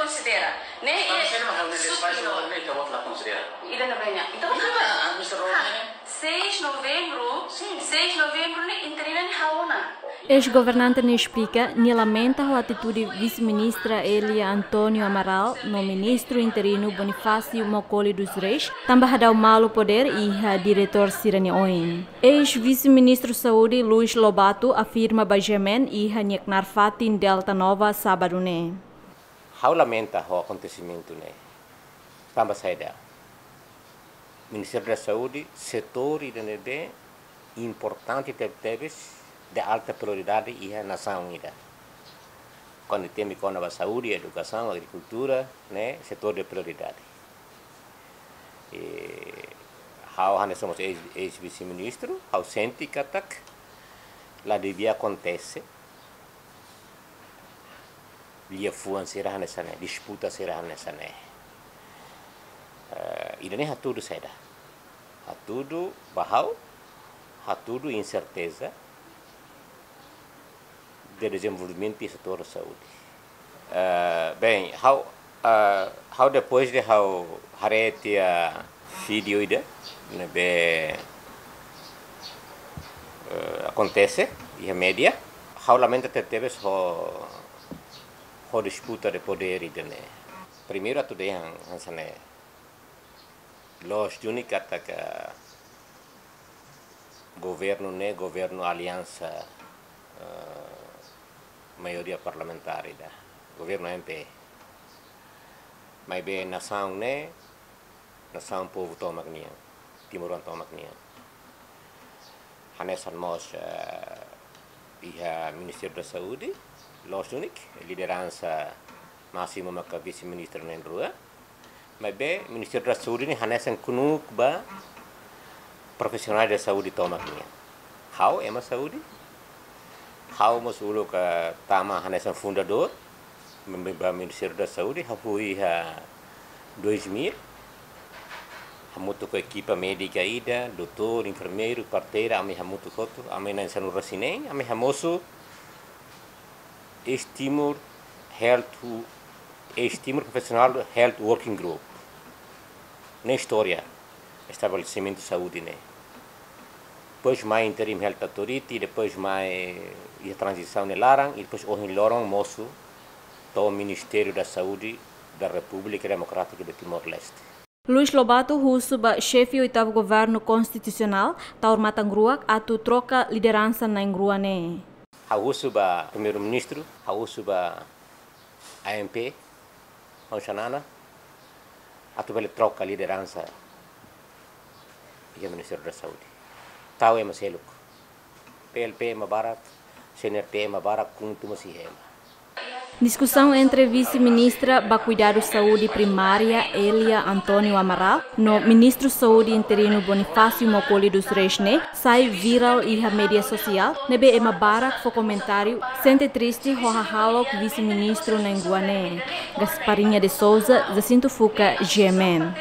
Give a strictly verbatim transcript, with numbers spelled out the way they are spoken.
Konsidera. Ne'e, mas iha, sira mak hal ne'e, supriu. Faz o ne'e, ita-boot la konsidera. Ida na banyak. Entaun, ida, ah, mister Rony, ah, ne'e? Seis Novembru, sin, seis Novembru ne'e interina ne'e ha'u ona. Eis-governante ne'e esplika, nia lamenta ho atitude Vise-Ministra Elia António Amaral no Ministru Interinu Bonifácio Macaulay dos Reis, tanba hadau malu podér iha diretór sira-nia oin. Eis-Vise-Ministru Saúde Luís Lobato afirma ba GMN iha nia knaar fatin Delta Nova, sábadu ne'e. Ha'u lamenta ho akontesimentu ne'e. Tanba saida? Ministériu da Saúde, setór ida ne'ebé importante tebetebes, de alta prioridade iha nasaun ida. Kuandu temi kona-ba saúde, edukasaun, agrikultura, ne'e setór de prioridade. I ha'u hanesan mós eis, eis-vise-ministru, ha'u sente katak la devia akontese liafuan sira hanesan ne'e, disputa sira hanesan ne'e. Eh, ida-ne'e hatudu saida? Hatudu ba ha'u, hatudu inserteza de dezenvolvimentu iha setór saúde. Eh, bem, ha'u, eh, ha'u depois de ha'u haree tiha vídeo ida ne'ebé, eh, akontese iha média, ha'u lamenta tebetebes ho, ho disputa de podér ida-ne'e. Primeiru atu dehan hanesan ne'e, loos duni katak governu ne'e, governu aliansa, eh, maioria parlamentár ida, governu AMP. Maibé nasaun ne'e, nasaun povu tomak nian, timoroan tomak nian. Hanesan mós, eh, iha Ministériu da Saúde, loos duni, lideransa másimu maka vise-ministru na'in-rua. Maibé Ministériu da Saúde ne'e hanesan knuuk ba profisionál da saúde tomak nian. Ha'u ema saúde. Ha'u mós uluk tama hanesan fundadór, mem-, ba Ministériu da Saúde, ha'u iha dois mil. Hamutuk ho ekipa médika ida, doutór, enfermeiru, parteira, ami hamutuk hotu, ami na'in sanulu-resin-neen, ami hamosu East Timor Health, East Timor Professional Health Working Group. Ne'e istória estabelesimentu saúde ne'e. Depois mai Interim Health Authority, depois mai iha tranzisaun nia laran, i depois ohin loron mosu to'o Ministériu da Saúde da Repúblika Demokrátika de Timor-Leste. Luís Lobato husu ba xefe oitavu governu konstitusionál, Taur Matan Ruak, atu troka lideransa na'in-rua ne'e. Ha'u husu ba Primeiru-Ministru, ha'u husu ba AMP, Hon Xanana, atu bele troka lideransa iha Ministériu da Saúde. Tau ema seluk. PLP ema barak, CNRT ema barak, KHUNTO mós iha ema. Diskusaun entre Vise-Ministra ba Kuidadu Saúde Primária, Elia António Amaral, no Ministru Saúde interinu Bonifácio Macaulay dos Reis ne'e sai virál iha média sosiál, ne'ebé ema barak fó komentáriu sente triste ho hahalok vise-ministru na'in-rua ne'e. Gasparinha de Souza, Jacinto Fuca, GMN.